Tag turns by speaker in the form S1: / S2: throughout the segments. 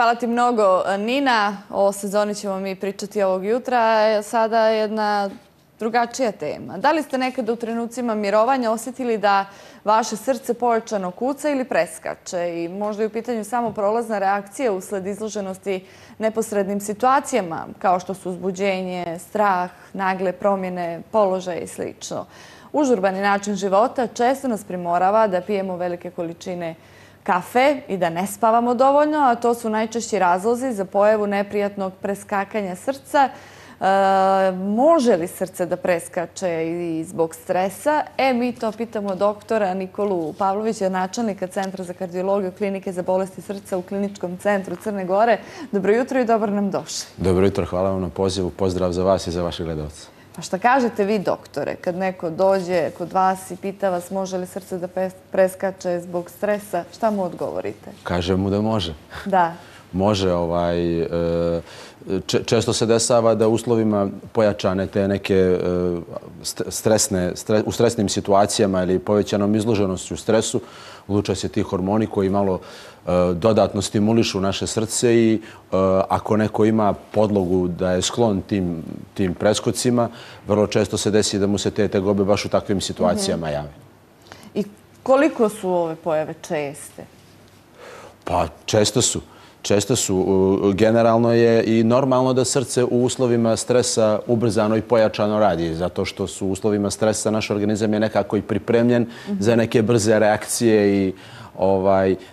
S1: Hvala ti mnogo, Nina. O sezoni ćemo mi pričati ovog jutra. Sada jedna drugačija tema. Da li ste nekada u trenucima mirovanja osjetili da vaše srce pojačano kuca ili preskače? I možda je u pitanju samo prolazna reakcija usled izloženosti neposrednim situacijama, kao što su uzbuđenje, strah, nagle promjene položaja i sl. Užurbani način života često nas primorava da pijemo velike količine kafe i da ne spavamo dovoljno, a to su najčešći razlozi za pojavu neprijatnog preskakanja srca. Može li srce da preskače i zbog stresa? Mi to pitamo doktora Nikolu Pavlovića, načelnika Centra za kardiologiju Klinike za bolesti srca u Kliničkom centru Crne Gore. Dobro jutro i dobro nam došli.
S2: Dobro jutro, hvala vam na pozivu. Pozdrav za vas i za vaše gledalce.
S1: Pa šta kažete vi, doktore, kad neko dođe kod vas i pita vas može li srce da preskače zbog stresa, šta mu odgovorite?
S2: Kažem mu da može.
S1: Da.
S2: Može. Često se dešava da u uslovima pojačane te neke u stresnim situacijama ili povećanom izloženošću stresu luče se ti hormoni koji malo dodatno stimulišu naše srce i ako neko ima podlogu da je sklon tim preskocima, vrlo često se desi da mu se te tegobe baš u takvim situacijama jave.
S1: I koliko su ove pojave česte?
S2: Pa često su. Generalno je i normalno da srce u uslovima stresa ubrzano i pojačano radi, zato što su u uslovima stresa naš organizam je nekako i pripremljen za neke brze reakcije i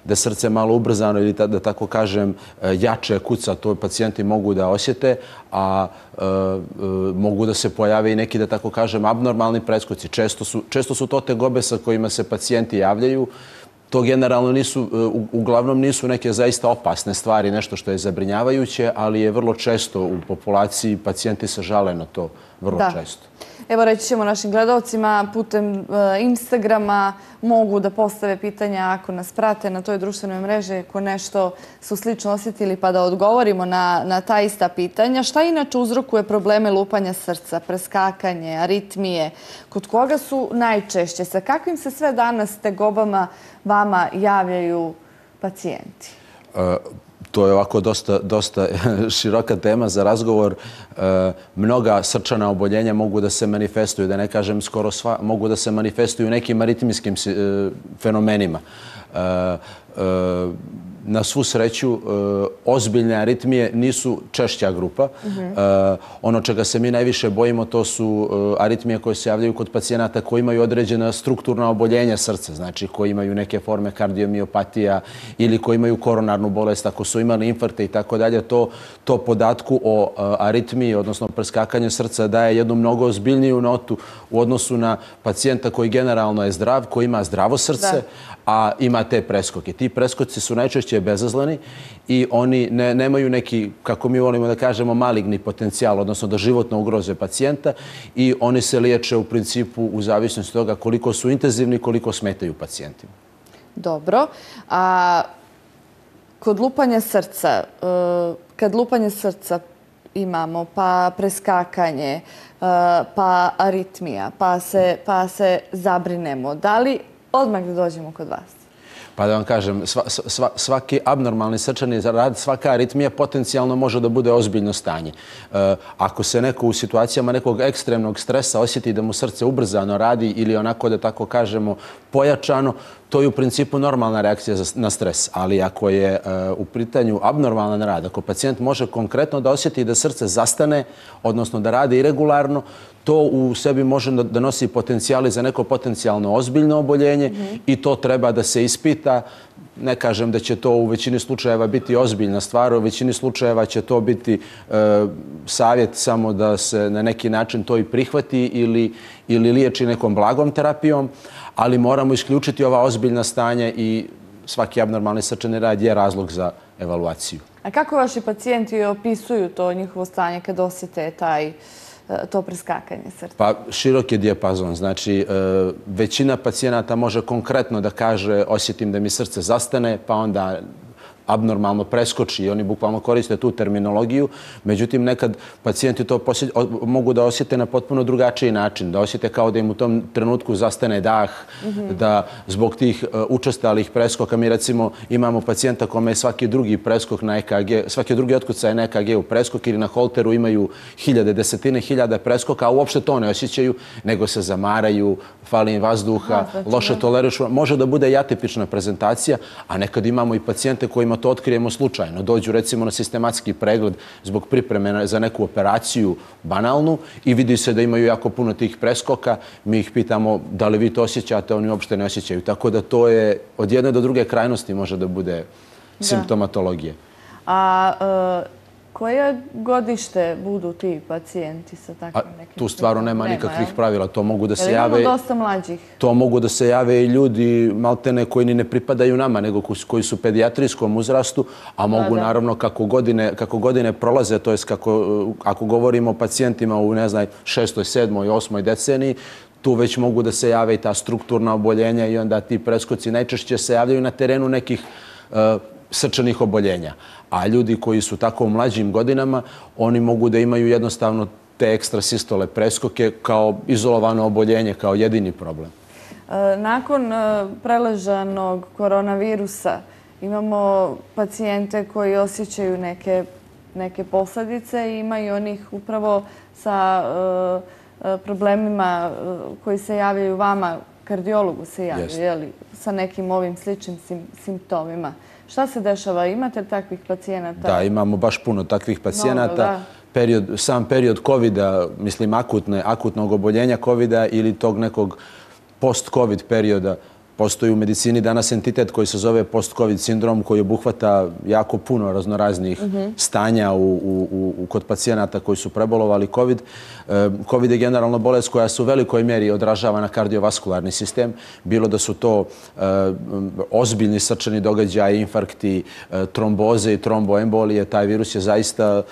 S2: da srce malo ubrzano ili da tako kažem jače kuca, to pacijenti mogu da osjete, a mogu da se pojave i neki, da tako kažem, abnormalni preskoci. Često su to tegobe sa kojima se pacijenti javljaju. To generalno uglavnom nisu neke zaista opasne stvari, nešto što je zabrinjavajuće, ali je vrlo često u populaciji, pacijenti se žale na to vrlo često.
S1: Evo, reći ćemo našim gledalcima, putem Instagrama mogu da postave pitanja ako nas prate na toj društvenoj mreži, ako nešto su slično osjetili, pa da odgovorimo na ta ista pitanja. Šta inače uzrokuje probleme lupanja srca, preskakanje, aritmije? Kod koga su najčešće? Sa kakvim se sve danas tegobama vama javljaju pacijenti?
S2: To je ovako dosta široka tema za razgovor. Mnoga srčana oboljenja mogu da se manifestuju, da ne kažem skoro sva, mogu da se manifestuju nekim aritmijskim fenomenima. Na svu sreću, ozbiljne aritmije nisu češća grupa. Ono čega se mi najviše bojimo, to su aritmije koje se javljaju kod pacijenata koji imaju određena strukturna oboljenja srca, znači koji imaju neke forme kardiomiopatija ili koji imaju koronarnu bolest, ako su imali infarkte i tako dalje. To podatku o aritmiji, odnosno preskakanju srca, daje jednu mnogo ozbiljniju notu u odnosu na pacijenta koji generalno je zdrav, koji ima zdravo srce, a ima te preskoke. Ti preskoci su najčešće bezazleni i oni nemaju neki, kako mi volimo da kažemo, maligni potencijal, odnosno da životno ugroze pacijenta i oni se liječe u principu u zavisnosti od toga koliko su intenzivni, koliko smetaju pacijentima.
S1: Dobro. A kod lupanja srca, kad lupanje srca imamo, pa preskakanje, pa aritmija, pa se zabrinemo, da li odmah da dođemo kod vas?
S2: Pa da vam kažem, svaki abnormalni srčani rad, svaka aritmija potencijalno može da bude ozbiljno stanje. Ako se neko u situacijama nekog ekstremnog stresa osjeti da mu srce ubrzano radi ili onako da tako kažemo pojačano, to je u principu normalna reakcija na stres. Ali ako je u pitanju abnormalan rad, ako pacijent može konkretno da osjeti da srce zastane, odnosno da radi iregularno, to u sebi može da nosi potencijali za neko potencijalno ozbiljno oboljenje i to treba da se ispita. Ne kažem da će to u većini slučajeva biti ozbiljna stvar, u većini slučajeva će to biti savjet samo da se na neki način to i prihvati ili liječi nekom blagom terapijom, ali moramo isključiti ova ozbiljna stanja i svaki abnormalni srčani rad je razlog za evaluaciju.
S1: A kako vaši pacijenti opisuju to njihovo stanje kad osjete to preskakanje srca?
S2: Pa širok je dijapazon. Znači, većina pacijenata može konkretno da kaže osjetim da mi srce zastane, pa onda abnormalno preskoči i oni bukvalno koriste tu terminologiju. Međutim, nekad pacijenti to mogu da osjete na potpuno drugačiji način, da osjete kao da im u tom trenutku zastane dah, da zbog tih učestalih preskoka, mi recimo imamo pacijenta kome je svaki drugi preskok na EKG, svaki drugi otkucaj na EKG u preskok ili na holteru imaju desetine hiljada preskoka, a uopšte to ne osjećaju, nego se zamaraju, fali im vazduha, loše tolerišu. Može da bude i atipična prezentacija, a nekad imamo i pacijente kojima to otkrijemo slučajno. Dođu recimo na sistematski pregled zbog pripreme za neku operaciju banalnu i vidi se da imaju jako puno tih preskoka. Mi ih pitamo da li vi to osjećate, oni uopšte ne osjećaju. Tako da to je od jedne do druge krajnosti može da bude simptomatologije.
S1: A koje godište budu ti pacijenti sa takvim nekim?
S2: Tu stvarno nema nikakvih pravila. To mogu da se
S1: jave... Imamo dosta mlađih.
S2: To mogu da se jave i ljudi maltene koji ni ne pripadaju nama, nego koji su u pedijatrijskom uzrastu, a mogu naravno kako godine prolaze, to je ako govorimo o pacijentima u, ne znam, 6., 7., 8. deceniji, tu već mogu da se jave i ta strukturna oboljenja i onda ti preskoci najčešće se javljaju na terenu nekih srčanih oboljenja. A ljudi koji su tako u mlađim godinama, oni mogu da imaju jednostavno te ekstrasistole preskoke kao izolovano oboljenje, kao jedini problem.
S1: Nakon preležanog koronavirusa imamo pacijente koji osjećaju neke posljedice i imaju onih upravo sa problemima koji se javljaju vama, kardiologu se javljaju, sa nekim ovim sličnim simptomima. Šta se dešava? Imate li takvih pacijenata?
S2: Da, imamo baš puno takvih pacijenata. Sam period COVID-a, mislim akutnog oboljenja COVID-a ili tog nekog post-COVID perioda, postoji u medicini danas entitet koji se zove post-COVID sindrom koji obuhvata jako puno raznoraznih stanja kod pacijenata koji su prebolovali COVID. COVID je generalno bolest koja se u velikoj mjeri odražava na kardiovaskularni sistem. Bilo da su to ozbiljni srčani događaji, infarkti, tromboze i tromboembolije. Taj virus je zaista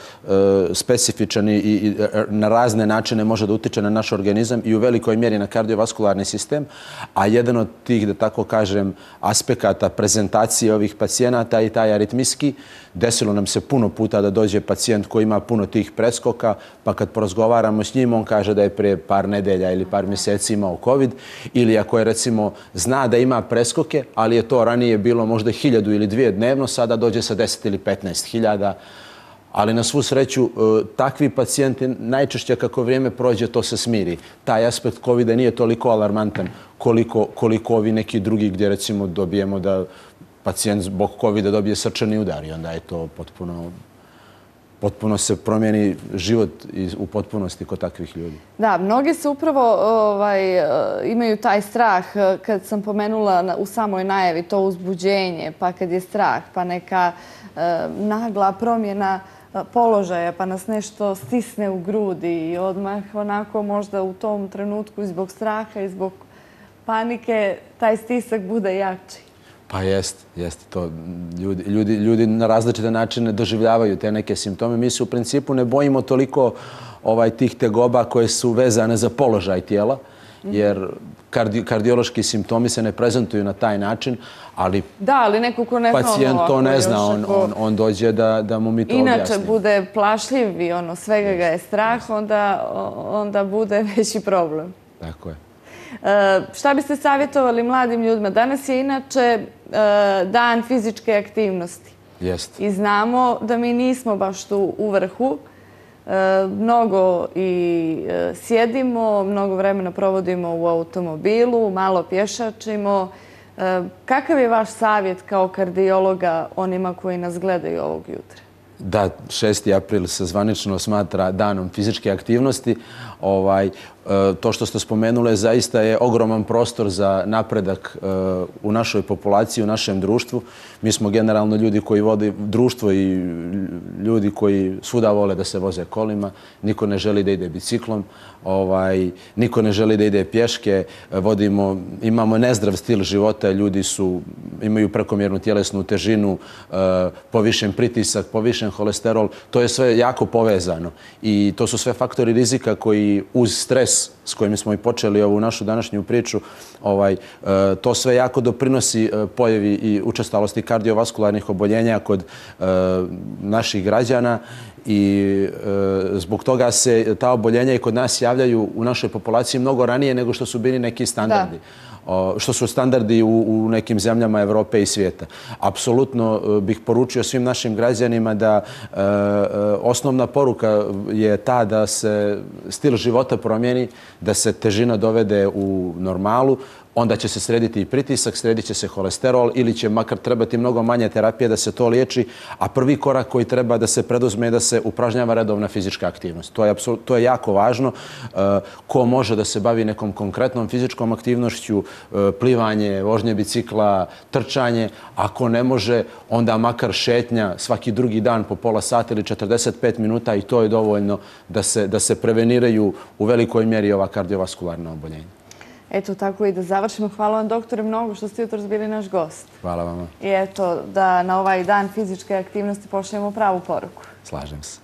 S2: specifičan i na razne načine može da utiče na naš organizam i u velikoj mjeri na kardiovaskularni sistem. A jedan od tih, da tako kažem, aspekata prezentacije ovih pacijenata i taj aritmijski. Desilo nam se puno puta da dođe pacijent koji ima puno tih preskoka, pa kad porazgovaramo s njim, on kaže da je prije par nedelja ili par mjeseci imao COVID, ili ako je recimo zna da ima preskoke, ali je to ranije bilo možda 1000 ili 2 dnevno, sada dođe sa 10 ili 15.000. Ali na svu sreću, takvi pacijenti najčešće kako vrijeme prođe to se smiri. Taj aspekt COVID-a nije toliko alarmantan koliko ovi neki drugi gdje recimo dobijemo da pacijent zbog COVID-a dobije srčani udar i onda je to potpuno se promijeni život u potpunosti kod takvih ljudi.
S1: Da, mnogi se upravo imaju taj strah, kad sam pomenula u samoj najavi, to uzbuđenje, pa kad je strah, pa neka nagla promjena položaja, pa nas nešto stisne u grudi i odmah onako možda u tom trenutku i zbog straha i zbog panike taj stisak bude jači.
S2: Pa jest. To ljudi na različite načine doživljavaju te neke simptome. Mi se u principu ne bojimo toliko tih tegoba koje su vezane za položaj tijela, jer kardiološki simptomi se ne prezentuju na taj način, ali
S1: neko ko ne zna
S2: pacijent to ne zna, on dođe da mu mi to objasni.
S1: Inače bude plašljiv i svega ga je strah, onda bude veći problem.
S2: Tako je.
S1: Šta biste savjetovali mladim ljudima? Danas je inače dan fizičke aktivnosti.
S2: Jest.
S1: I znamo da mi nismo baš tu u vrhu. Mnogo i sjedimo, mnogo vremena provodimo u automobilu, malo pješačimo. Kakav je vaš savjet kao kardiologa onima koji nas gledaju ovog jutra?
S2: Da, 6. april se zvanično smatra danom fizičke aktivnosti. To što ste spomenuli zaista je ogroman prostor za napredak u našoj populaciji, u našem društvu. Mi smo generalno ljudi koji vode društvo i ljudi koji svuda vole da se voze kolima. Niko ne želi da ide biciklom, niko ne želi da ide pješke. Imamo nezdrav stil života, ljudi imaju prekomjernu tjelesnu težinu, povišen pritisak, povišen holesterol. To je sve jako povezano i to su sve faktori rizika koji uz stres stres s kojim smo i počeli ovu našu današnju priču, to sve jako doprinosi pojavi i učestalosti kardiovaskularnih oboljenja kod naših građana i zbog toga se ta oboljenja i kod nas javljaju u našoj populaciji mnogo ranije nego što su bili neki standardi. Što su standardi u nekim zemljama Evrope i svijeta. Apsolutno bih poručio svim našim građanima da osnovna poruka je ta da se stil života promijeni, da se težina dovede u normalu, onda će se srediti i pritisak, sredit će se holesterol ili će makar trebati mnogo manje terapije da se to liječi, a prvi korak koji treba da se preduzme je da se upražnjava redovna fizička aktivnost. To je jako važno. Ko može da se bavi nekom konkretnom fizičkom aktivnošću, plivanje, vožnje bicikla, trčanje, ako ne može, onda makar šetnja svaki drugi dan po pola sata ili 45 minuta i to je dovoljno da se preveniraju u velikoj mjeri ova kardiovaskularna oboljenja.
S1: Eto, tako i da završimo. Hvala vam, doktore, mnogo što ste jutros bili naš gost.
S2: Hvala vama.
S1: I eto, da na ovaj dan fizičke aktivnosti pošaljemo pravu poruku.
S2: Slažem se.